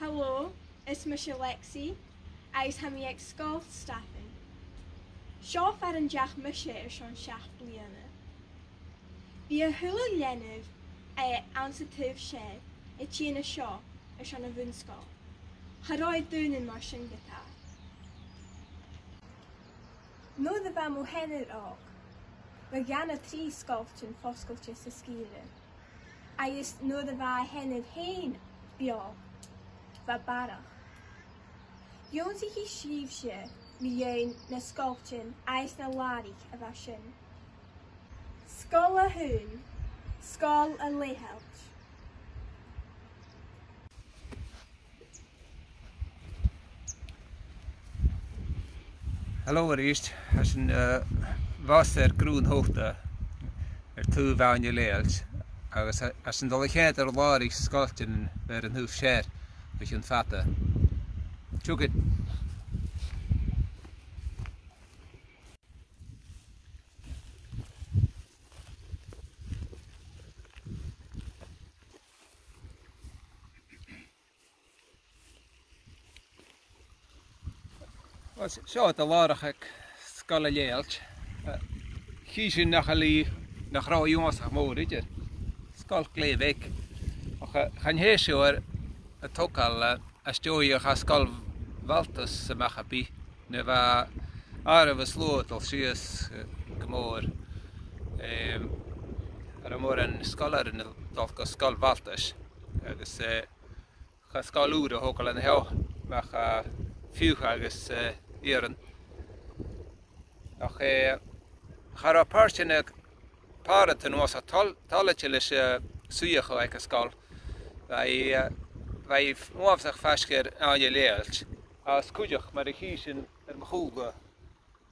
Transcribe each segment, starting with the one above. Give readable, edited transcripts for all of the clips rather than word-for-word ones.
Hello, is mise Lexi agus tá mé ag Scoil Stiofáin. Seo fear an dteach mise ar son 7 bliana. Bhí a chuile leanbh ann sa taobh soir i tír na seo ar son an bhunscoil. Cha raibh dúnan mar sin go tá. Nuair a bheith mo sheanfhear óg, ba ghean a 3 scoilteann foscailte sa scíre. Agus nuair a bheadh a sheanfhear féin beo, bheadh barrach. Ionsaithe sibhse mi dhéin na scoilteann agus na lárich a bheadh sin. Scoil a hAon, Scoil a Leithilt. Hello arís, as an bhfás ar Grúnhóta ar taobh Abhainn Léilt agus as an dul a chéad ar láirigh scoilteann ar an thaobh soir do Chionn Fata. Tiocfaidh. Seo do lárach ag Scoil a Léilt. Chí sin nach í nach raibh iomásach mór idir. Scoil Gléibhéic. Ach chan hé seo ar a tógáil aisteoidh a Scoil Bhaltas amach a bith nuair bheadh áireamh is luath dul síos go mór ar an mór an scoil ar an dul go Scoil Bhaltais agus Cha scoil úr a thógáil ina theo, mbeadh fiuchadh agus iarann. Ach cha raibh páirt ina párat anuas ach toilite leis suíochadh ag an scoil. Bheadh uafásach faisce ar Áine Léilt as cuideach mar a chí sin ar mo chúla.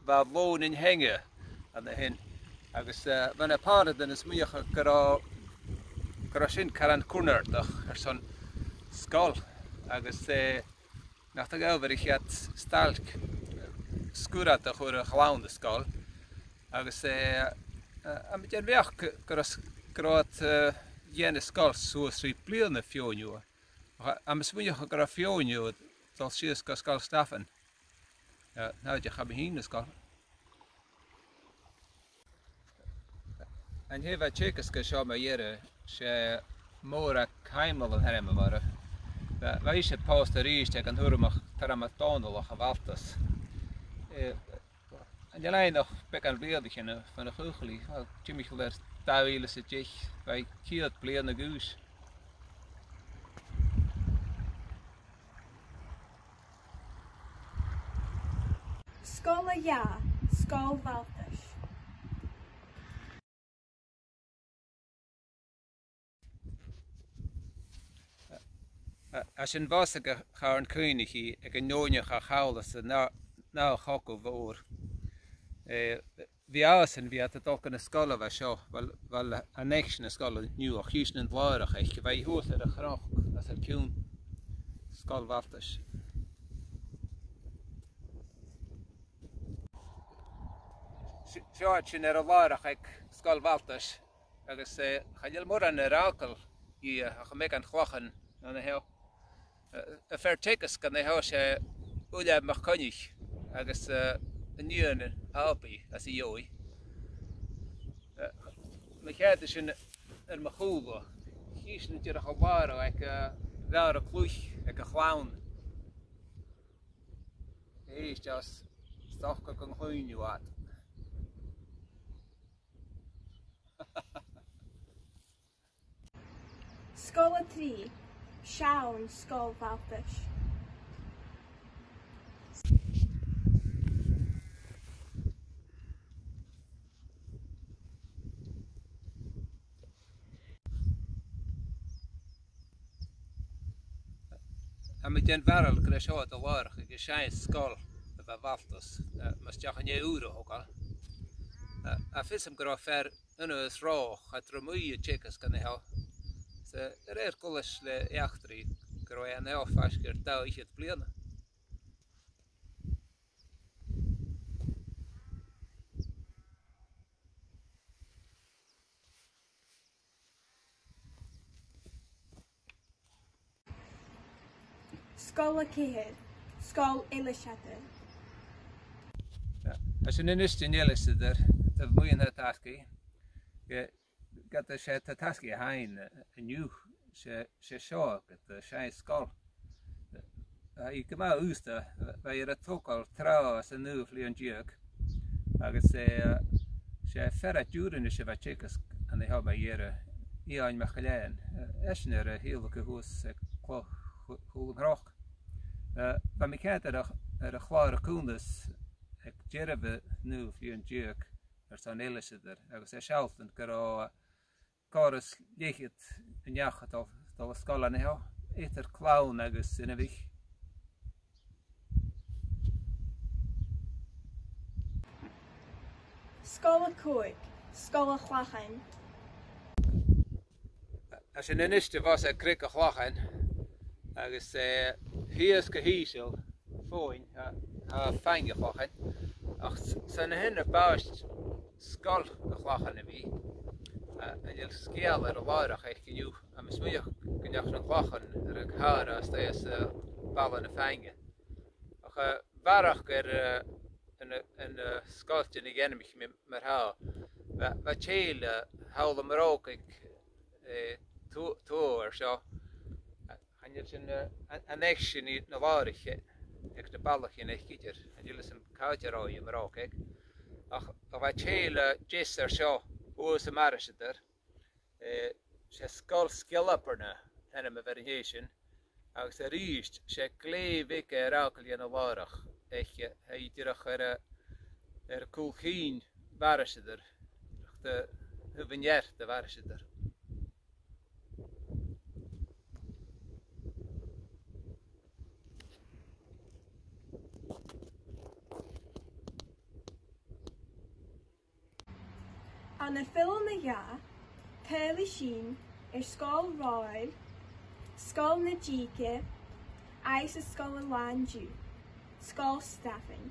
Bheadh lón in theanga ana shin agus bheadh na párat ina smaoineachadh go raibh go raibh sin carn cúnardach ar son scoil agus nach dtug ábhar a chead stailc sciúradach chur ar chlann na scoil agus an bheadh go raibh go raibh dhéanamh scoil suas rí bliana fiú Am smaoineachadh go raibh fiú dul síos go Scoil Stiofáin. Ná de cha mé na scoil. An thaobh a téacs seo mar dheireadh sé mór a caimil an hairm a mhara. Bheidh siad pósta arís ag an thuairimach Taramach Dónallach a Bhaltas. An Oileánach beagán bliain a chinneadh fan a chúchaillí, timpeall ar 2010, beidh 100 bliain ag aois. Scoil a Dhea, Scoil Bhaltais. As sin bhásaigh a charn caoineadh ag an neoineach a chabhla sa ná chogadh mhór. Bhí fhios an bhí ag dul go na scoile bheith seo, bhuel an ex na scoile nua ach thíos an bhláireach aici, bheith thuas ar an chnoc as ar ciúin Scoil Bhaltais. Seo sin ar an láithreach ag Scoil Bhaltais. Agus cha fhuil mórán ar fhocal Dhia ach a mbeidh an chlochan ina theo. A fear teagasc ina theo sé Uilleam Mac Coinnich agus iníon Albaí as a dheoidh. Na chead sin ar mo chúla, chí sin díreach a mhara ag a bhearra cloich ag a chlann. Éist as stoca den chuimhniú a'd. Scoil 3, Sean Scoil Bhaltais. Tá mé den bharúil go raibh seo do láithreach ag an sean scoil a bheith Bhaltas más teach an úr a thógáil. A fios agam go raibh fear ionadh is rách a dromaí a téacs gan é sa réir gulais le eachtraí go raibh an eá faisc ar dá fhichead bliana. Scoil 4, Scoil Eiliseadar. Sin anois den Eiliseadar taobh amuigh an tascaí. Gad sé tá tascaí a hain inniu sé seo gad sé scoil. I go maith uasta bheidh ar a tógáil tráth as an nua bhliain déag agus sé fear a dúr anois a bheith teagasc an é mar dheireadh Iáin Mac Coileáin, eisean ar a shaol acu thuas ag Cloch Chúl an Chnoc. Bha mé cead ar a chlár a cúnas ag deireadh na bhliain déag ar son Eiliseadar agus é sealtan go raibh córas léichead i ndeach ag dul a scoil ann idir clann agus ina bhích. Scoil 5, Scoil an Chlacháin. Sin anois de bhus ag Cnoc an Chlacháin agus thíos go híseal fóin tá Faing an Chlacháin ach san shin a báist Scoil an Chlacháin a bhí an níl scéal ar an láithreach aici inniu agus smaoineach go ndeachaigh an Clochán ar an gcarr as taos Balla na Fainge ach bharrach ar ina scoilt ina gheanmnaí mar thá bheith téile thall i mBróg ag tuath ar seo An sin an eich sin na láithreach ag na ballacha ina chidir an níl is an cáid ar i mBróg ag ach a bheith téile deis ar seo thuas i Mariseadar sé Scoil Sciolaparna t-ainm a bheir an hé sin agus arís sé gléibh ar eagal dhéanamh láithreach aici díreach ar ar cúl cinn Mhariseadar de thubh an de Mhariseadar. An film a dha, Pearly Sheen ar Scoil Ráil, Scoil na Díce, agus a Scoil Landú, Scoil Stephen.